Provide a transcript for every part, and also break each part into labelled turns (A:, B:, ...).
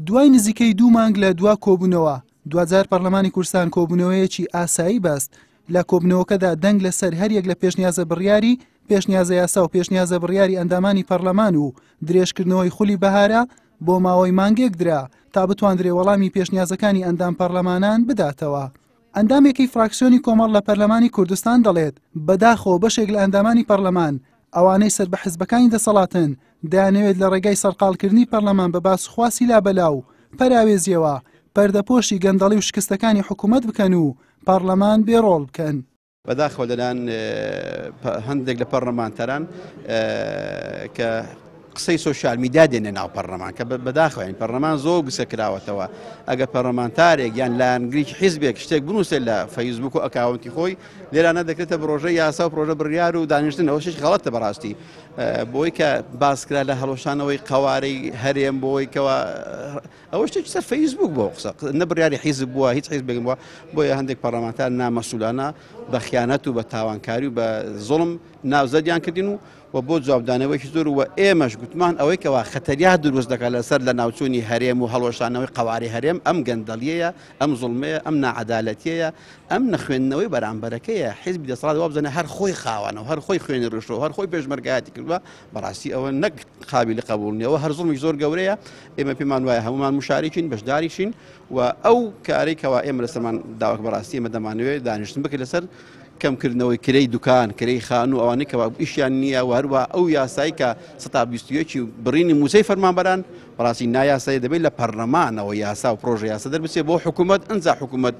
A: دوای نزیکەی دوو مانگ لە دوا کۆبوونەوە، دواجار پەرلەمانی کوردستان کۆبوونەوەیەکی ئاسایی بەست، لە کۆبوونەوەکەدا دەنگ لەسەر هەریەک لە پێشنیازە بڕیاری پێشنیازە یاسا و پێشنیازە بڕیاری ئەندامانی پەرلەمان و درێژکردنەوەی خولی بەهارە بۆ ماوەی مانگێک درا تا بتواندرێ وەڵامی پێشنیازەکانی ئەندام پەرلەمانان بداتەوە. ئەندامێکی فراکسیۆنی کۆمەڵ لە پەرلەمانی کوردستان دەڵێت، بەداخەوە بەشێک لە ئەندامانی پەرلەمان ئەوانەی سەر بە حزبەکانی دەسەڵاتن دەیانەوێت لە ڕێگای سەرقاڵکردنی پەرلەمان بە باسوخواسی لابەلا و پەراوێزیەوە پەردەپۆشی گەندەڵی و شکستەکانی حکومەت بکەن و پەرلەمان بێ ڕۆڵ بکەن.
B: بەداخەوە لەلایەن هەندێک لە پەرلەمانتاران کە قسەی سۆشیال میدیا دێنە ناو پەرلەمان کە بەداخەوە یانی پەرلەمان زۆر گسە کراوەتەوە ئەگەر پەرلەمانتارێک یان لایەنگریکی حیزبێک شتێک بنووسێت لە فەیسبوک و ئەکاونتی خۆی لێرانە دەکرێتە پرۆژە یاسا و پرۆژە بڕیار و دانیشتن ئەوە شتێکی غەڵەتە بەڕاستی بۆی کە باسکرا لە هەڵوەشانەوەی قەوارەی هەرێم بۆی کەوا ئەوە شتێکی سەر فەیسبوک بۆ قسە نە بڕیاری حیزب بووە هیچ حیزبێک بووە بۆیە هەندێک پەرلەمانتار نامەسولانە بە خیانەت و بە تاوانکاری و بە زوڵم ناوزەدیان کردین و و بۆ جوابدانەوەیەکی زۆر و ئێمەش گوتمان ئەوەی کەوا خەتەریات دروست دەکات لەسەر لە ناوچوونی هەرێم و هەڵوەشانەوەی قەوارەی هەرێم ئەم گەندەڵیەیە ئەم زوڵمەیە ئەم ناعەدالەتیەیە ئەم نەخوێندنەوەی بەرامبەرەکەیە حیزبی دەسەڵات وابزانێ هەر خۆی خاوەنە و هەر خۆی خوێنی ڕشتووە و هەر خۆی پێشمەرگایەتی کردووە بەڕاستی ئەوە نەک قابیلی قبوڵ نییە ئەوە هەر زوڵمی زۆر گەورەیە ئێمە پێمان وایە هەمومان مشارکین بەشداریشین و ئەو کارەی کەوا ئێمە لەسەرمان داوەک بەڕاستی ئێمە دەمانەوێت دانیشتن بکرێت لەسەر کەمکردنەوەی کرێی دوکان، کرێی خانوو، ئەوانەی کەوا ئیشیان نییە و هەروەها ئەو یاسای کە 121 و بڕینی مووچەی فەرمانبەران بەڕاستی نایاسایی دەبێت لە پەرلەمانەوە یاسا و پرۆژە یاسا دەربچێت بۆ حکوومەت ئەنجا حکوومەت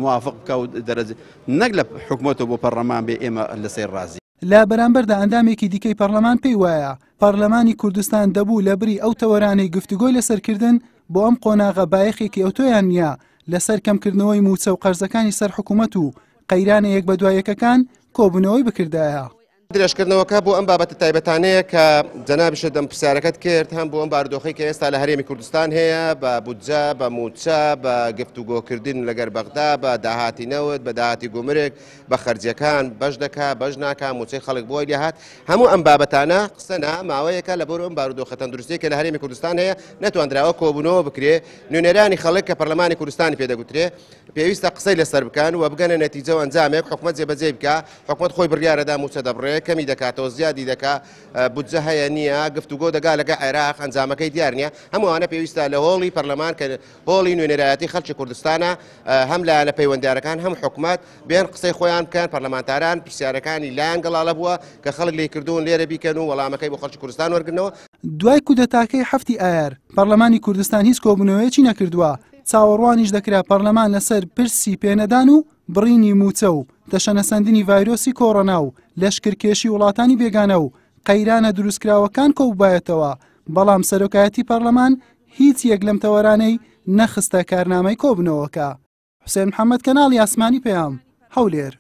B: موافق بکە و دەرەج نەک لە حکوومەتەوە بۆ پەرلەمان بێ ئێمە لەسەر ڕازی.
A: لە بەرامبەردا ئەندامێکی دیکەی پەرلەمان پێی وایە پەرلەمانی کوردستان دەبوو لە بری ئەو تەوەرانەی گفتوگۆی لەسەر کردن بۆ ئەم قۆناغە بایەخێکی ئەوتۆیان نییە لەسەر کەمکردنەوەی مووچە و قەرزەکانی سەر حکوومەت و قەیرانە یەک بەدوای یەکەکان کۆبوونەوەی بکردایە.
C: درێژکردنەوەکە بۆ ئەم بابەتە تایبەتانەیە کە جەنابیشت ئەم پرسیارەکەت کرد، هەم بۆ ئەم بارودۆخەی کە ئێستا لە هەرێمی کوردستان هەیە بە بودجە، بە مووچە، بە گفتوگۆکردن لەگەر بەغدا، بە داهاتی نەوت، بە داهاتی گومرگ، بە خەرجیەکان بەش دەکا بەش ناکا موچەی خەڵک بۆی لێهات هەموو ئەم بابەتانە قسە نا ماوەیەکە لە بۆر ئەم بارودۆخە تەندروستیە کە لە هەرێمی کوردستان هەیە نەتواندراوە کۆبوونەوە بکرێ نوێنەرانی خەڵک کە پەرلەمانی کوردستانی پێدەگوترێ پێویستە قسەی لەسەر بکەن و بگەنە نەتیجە و ئەنجامێک حکومەت جێبەجێ بکە حکومەت خۆی بڕیارەدا موچە دەبڕێ کەمی دەکاتەوە زیادی دەکا بودجە هەیە نییە گفتوگۆ دەگا لەگە عێراق ئەنجامەکەی دیار نییە هەمووانە پێویستە لە هۆڵی پەرلەمان کە هۆڵی نوێنەرایەتی خەڵکی کوردستانە هەم لایەنە پەیوەندیارەکان هەم حکومەت بێن قسەی خۆیان بکەن پەرلەمانتاران پرسیارەکانی لایان گەڵاڵە بووە کە خەڵک لێی کردوون لێرە بیکەن و وەڵامەکەی بۆ خەڵکی کوردستان وەرگرنەوە.
A: دوای کودەتاکەی حەفتی ئایار، پەرلەمانی کوردستان هیچ کۆبوونەوەیەکی نەکردووە، چاوەڕوانیش دەکرا پەرلەمان لەسەر پرسی پێنەدان و بڕینی مووچە و تەشەنەسەندنی ڤایرۆسی کۆڕۆنا و لەشکرکێشی وڵاتانی بێگانە و قەیرانە دروستکراوەکان کۆببایەتەوە، بەڵام سەرۆکایەتی پەرلەمان هیچ یەک لەم تەوەرانەی نەخستە کارنامەی کۆبوونەوەکە. حوسێن محەمەد کەناڵی ئاسمانی پەیام، هەولێر.